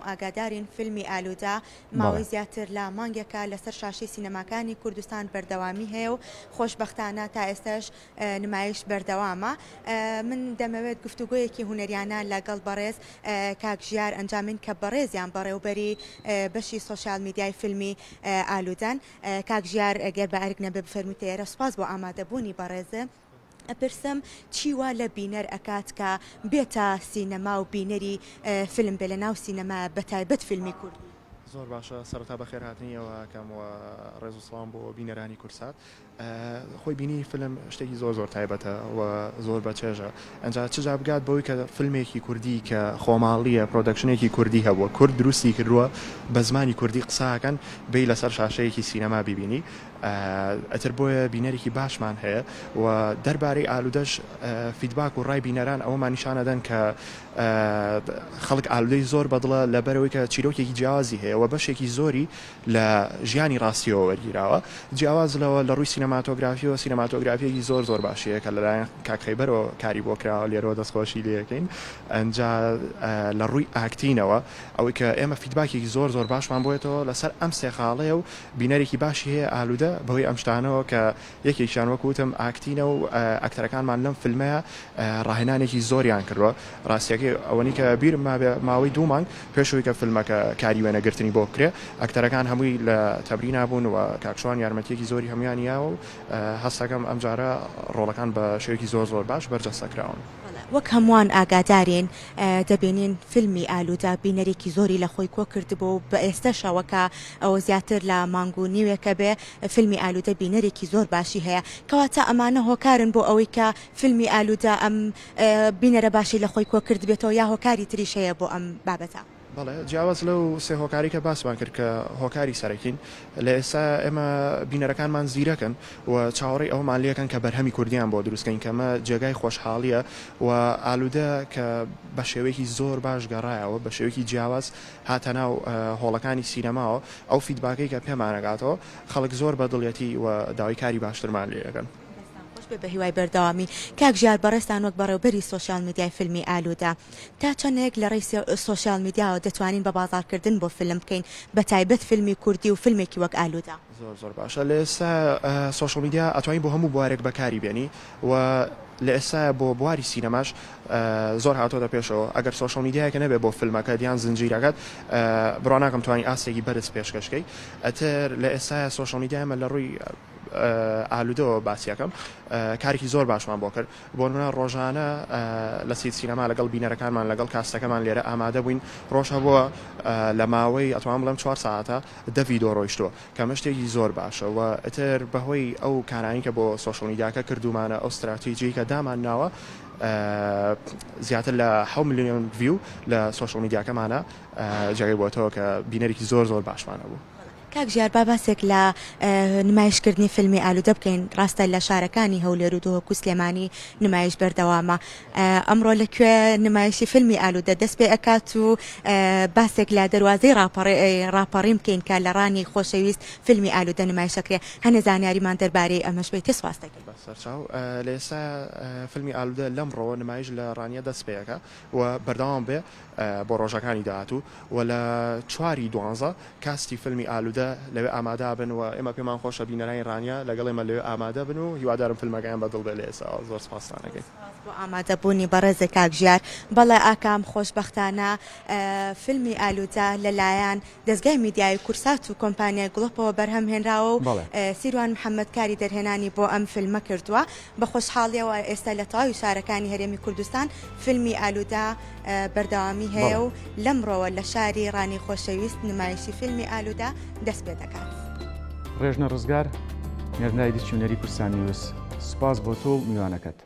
ئاگادارین فیلمی ئالوودە ماوەی زیاتر لە مانگێکە لەسەر شاشەی سینەماکانی کوردستان بەردەوامی هەیە و خۆشبەختانە تا ئێستاش نمایش بەردەوامە. من دەمەوێت گفتوگۆیەکی هونەریانە لەگەڵ بەڕێز کاک ژیار ئەنجامین کە بەڕێزیان بەڕێوبەری بەشی سۆشیال میدیای فیلمی ئالوودەن. کاک ژیار گەر بە ئەرک نەبێ بفەرموویتە ئێرە سوپاس بۆ ئامادەبوونی بەڕێز. ئەپرسم چی وا لە بینەر ئەکات کە بێتە سینەما و بینەری فیلم بێ لە ناو سینەما بەتایبەت فیلمی کوردی؟ زۆر باشە سەرەتا بەخێرهاتنی ئێوە ئەکەم و ڕێز و سڵاوم بۆ بینەرانی کوردسات. خۆی بینینی فیلم شتێکی زۆر زۆر تایبەتە و زۆر بەچێژە ئەنجا چ جا بگات بەوەی کە فیلمێکی کوردی کە خۆماڵیە production ێکی کوردی هەبووە کورد دروستی کردووە بە زمانی کوردی قساکەن بێی لەسەر شاشەیەکی سینەما بیبینی ئەتر بۆیە بینەرێکی باشمان هەیە و دەربارەی ئالودەش feedback و ڕای بینەران ئەوەمان نیشانەدەن کە خەڵک ئالودەی زۆر بەدڵە لەبەرەوەی کە چیرۆکێکی جیاوازی هەیە و بەشێکی زۆری لە ژیانی ڕاستیەوە وەرگیراوە جیاواز لەوە لە ڕووی سینەماتۆگرافیەوە سینەماتۆگرافیەکی زۆر زۆر باشی هەیە کە لەلایەن کاک خەیبەرەوە کاری بۆ کراوە لێرەوە دەستخۆشی لێ ئەکەین ئەنجا لە ڕووی acting ەوە ئەوەی کە ئێمە feedback ێکی زۆر زۆر باشمان بۆیەتەوە لەسەر ئەم سێ خاڵەیە و بینەرێکی باشی هەیە ئالوودە بەهۆی ئەم شتانەوە کە یەکێکیان وەک وتم acting ە و ئەکتەرەکانمان لەم فیلمەیا ڕاهێنانێکی زۆریان کردووە ڕاستیەکەی ئەوەنی کە بیرم مابێ ماوەی دوو مانگ پێش ئەوەی کە فیلمەکە کاری وێنەگرتنی بۆ بکرێ ئەکتەرەکان هەمووی لە تەمرینا بوون و کاک شوان یارمەتیەکی زۆری هەموویانی یاوە و هەستەکەم ئەمجارە ڕۆڵەکان بە شێوەیەکی زۆر زۆر باش بەرجەستە کراون. وەک هەمووان ئاگادارین دەبینین فیلمی ئالوودە بینەرێکی زۆری لە خۆی کۆ کردبوو و بە ئێستەشەوە کە ئەوە زیاتر لە مانگ و نیوێکە بێ فیلمی ئالوودە بینەرێکی زۆر باشی هەیە کەواتە ئەمانە هۆکارن بۆ ئەوەی کە فیلمی ئالوودە ئەم بینەرە باشەی لە خۆی کۆ کردبێتەوە یا هۆکاری تریش هەیە بۆ ئەم بابەتە؟ بەڵێ جیاواز لەو سێ هۆکارەی کە باسمان کرد کە هۆکاری سەرەکین لە ئێستا ئێمە بینەرەکانمان زیرەکن و چاوەڕێی ئەوەمان لێکەن کە بەرهەمی کوردیان بۆ دروست کەین کە ئەمە جێگای خۆشحاڵیە و ئالوودە کە بە شێوەیەکی زۆر باش گەڕایەوە بە شێوەیەکی جیاواز هاتە ناو هۆڵەکانی سینەماوە ئەو feedback ەی کە پێمان ئەگاتەوە خەڵک زۆر بە دڵیەتی و داوای کاری باشترمان لێ ئەکەن. دەستتان خۆش بێت بەهیوای بەردەوامی. کاک ژیار بەڕێزتان وەک بەڕێوبەری سۆشیال میدیای فیلمی ئالوودە تا چەندێک لە ڕێی سۆشیال میدیاوە دەتوانین بە بازاڕکردن بۆ فیلم بکەین بەتایبەت فیلمی کوردی و فیلمێکی وەک ئالوودە؟ زۆر زۆر باشە لە ئێستا سۆشیال میدیا ئەتوانی بۆ هەموو بوارێک بەکاری بێنی و لە ئێستایا بۆ بواری سینەماش زۆر هاتۆتە پێشەوە ئەگەر سۆشیال میدیایەکە نەبێ بۆ فیلمەکەت یان زنجیرەکەت بڕوا ناکەم توانی ئاستێکی بەرز پێشکەش کەی ئەتر لە ئێستایا سۆشیال میدیا ئێمە لە ڕووی ئالوودەوە باسی ئەکەم کارێکی زۆر باشمان بۆ کرد بۆ نمونە ڕۆژانە لە سید سینەما لەگەڵ بینەرەکانمان لەگەڵ cast ەکەمان لێرە ئامادە بووین ڕۆژ هەبووە لە ماوەی ئەتوانم بڵێم چوار سەعاتە دە ڤیدۆ ڕۆیشتووە کە ئەمە شتێکی زۆر باشە و ئیتر بەهۆی ئەو کارانەی کە بۆ سۆشیال میدیاکە کردوومانە ئەو ستراتیجیەی کە دامان ناوە زیاتر لە حەو ملیۆن view لە سۆشیال میدیاکەمانە جێگەی بۆتەوە کە بینەرێکی زۆر زۆر باشمان هەبوو. کاک ژیار با باسێک لە نمایشکردنی فیلمی ئالوودە بکەین، ڕاستە لە شارەکانی هەولێر و دهۆک و سلێمانی نمایش بەردەوامە، ئەمڕۆ لە کوێ نمایشی فیلمی ئالوودە دەست پێ ئەکات و باسێک لە دەروازەی ڕاپەڕین بکەین کە لە ڕانیەی خۆشەویست فیلمی ئالوودە نمایش ئەکرێ، هەنێ زانیاریمان دەربارەی ئەمەش بەیتێ سوپاست دەکەین. بە سەرچاو لە ئێستا فیلمی ئالوودە لەمڕۆوە نمایش لە ڕانیە دەست پێ ئەکا و بەردەوام بێ بۆ ڕۆژەکانی داهاتوو و لە چواری دوانزە cast ی فیلمی ئالوودە لەوێ ئامادەبن و ئێمە پێمان خۆشە بینەرانی ڕانیە لەگەڵ ئێمە لەوێ ئامادە بن و هیوادارم فیلمەکەیان بە دڵ بێ لە ئێستاوە زۆر سپاستان ئەکەین. سپاس بۆ ئامادەبوونی بەڕێزت کاک ژیار. بەڵێ ئاکام خۆشبەختانە فیلمی ئالوودە لەلایەن دەزگای میدیایی کورسات و کۆمپانیای گڵۆپەوە بەرهەم هێنراوە و سیروان محەمەد کاری دەرهێنانی بۆ ئەم فیلمە کردووە. بە خۆشحاڵیەوە ئێستا لە تەواوی شارەکانی هەرێمی کوردستان فیلمی ئالوودە بەردەوامی هەیە و لەمڕۆوە لە شاری ڕانیەی خۆشەویست نمایشی فیلمی ئالوودە دەست پێ دەکات. ڕێژنە ڕزگار، نێرنای دیکشنەری کوردستان نیوز، سوپاس بۆ تۆ و میوانەکەت.